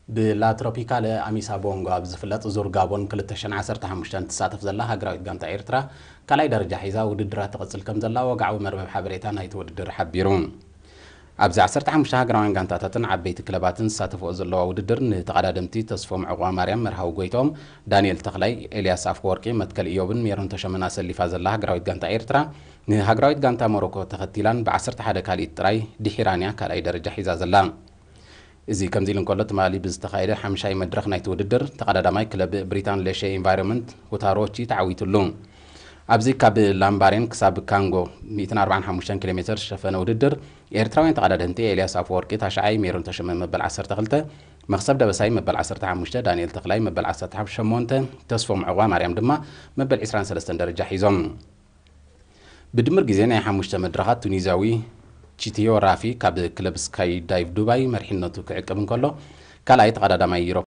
ብላ ትሮፒካለ ኣሚሳ ቦንጎ ኣብ ዝፍለጥ ዙር ጋቦን ክልተ ሽሕን ዓሰርተ ሓሙሽተን ትሳተፍ ዘላ ሃገራዊት ጋንታ ኤርትራ ካልኣይ ደረጃ ሒዛ ውድድራ ትቕጽል ከም ዘላ ወግዓዊ መርበብ ሓበሬታ ናይቲ ውድድር ሓቢሩ። ኣብዚ ዓሰርተ ሓሙሽተ ሃገራውያን ጋንታታትን ዓበይቲ ክለባትን ዝሳተፍኦ ዘለዋ ውድድር፣ ንተቐዳደምቲ ተስፎም ዕቑባ ማርያም፣ መርሃዊ ጎይቶም፣ ዳንኤል ተኽላይ፣ ኤልያስ ኣፈወርቂ፣ መትከል ኢዮብን ሜሮን ተሸመን ኣሰሊፋ ዘላ ሃገራዊት ጋንታ ኤርትራ፣ ንሃገራዊት ጋንታ ሞሮኮ ተኸቲላን ብ ዓሰርተ ሓደ ካልኢት ጥራይ ድሒራን እያ ካልኣይ ደረጃ ሒዛ ዘላ። እዚ ከምዚ ኢሉ እንከሎ፣ ትማሊ ብዝተኻየደ ሓምሻይ መድረኽ ናይቲ ውድድር፣ ተቐዳዳማይ ክለብ ብሪታን ሌሼ ኢንቫይሮንመንት ሁታሮቺ ተዓዊትሉ። ኣብዚ ካብ ላምባሬን ክሳብ ካንጎ ሚእትን ኣርባዓን ሓሙሽተን ኪሎ ሜትር ዝሸፈነ ውድድር፣ ኤርትራውያን ተቐዳደምቲ ኤልያስ ኣፈወርቂ ታሽዓይ፣ ሜሮን ተሸመ መበል ዓሰርተ ክልተ፣ መኽሰብ ደበሳይ መበል ዓሰርተ ሓሙሽተ፣ ዳንኤል ተኽላይ መበል ዓሰርተ ሸሞንተ፣ ተስፎም ዕቑባ ማርያም ድማ መበል ዕስራን ሰለስተን ደረጃ ሒዞም። ብድምር ግዜ ናይ ሓሙሽተ መድረኻት ቱኒዝያዊ ቺቲዮ ራፊ ካብ ክለብ ስካይ ዳይቭ ዱባይ መሪሕነቱ ክዕቅብ እንከሎ፣ ካልኣይ ተቐዳዳማይ ዩሮ